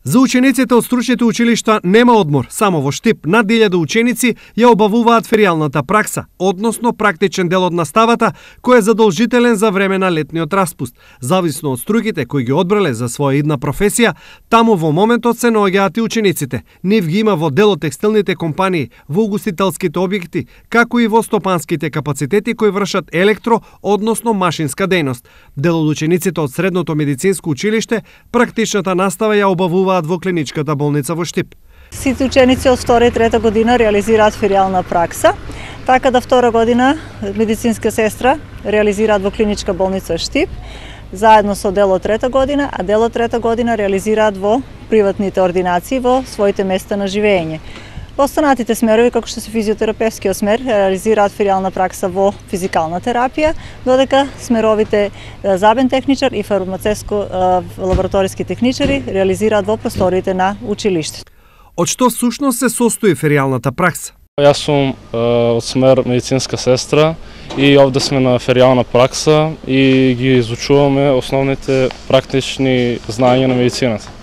За учениците од стручните училишта нема одмор. Само во Штип над 1000 ученици ја обавуваат феријалната пракса, односно практичен дел од наставата, кој е задолжителен за време на летниот распуст. Зависно од струките кои ги одбрале за своја идна професија, таму во моментот се наоѓаат и учениците. Нив ги има во дел од текстилните компании, во угостителските објекти, како и во стопанските капацитети кои вршат електро, односно машинска дејност. Дел од учениците од средното медицинско училиште практичната настава ја обавуваат во клиничката болница во Штип. Сите ученици од 2 и 3 година реализираат феријална пракса, така да 2 година медицинска сестра реализираат во клиничка болница Штип, заедно со дел од 3 година, а дел од 3 година реализираат во приватните ординации во своите места на живење. Во останатите смерови, како што се физиотерапевскиот смер, реализираат феријална пракса во физикална терапија, додека смеровите забен техничар и фармацевско-лабораториски техничари реализираат во просториите на училиштето. Од што всушност се состои феријалната пракса? Јас сум од смер медицинска сестра и овде сме на феријална пракса и ги изучуваме основните практични знаења на медицината.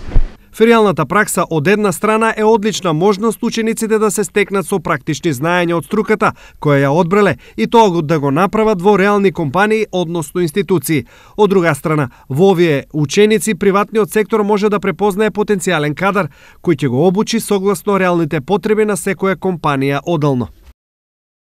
Феријалната пракса од една страна е одлична можност учениците да се стекнат со практични знаења од струката која ја одбрале и тоа да го направат во реални компании, односно институции. Од друга страна, во овие ученици приватниот сектор може да препознае потенцијален кадар кој ќе го обучи согласно реалните потреби на секоја компанија одделно.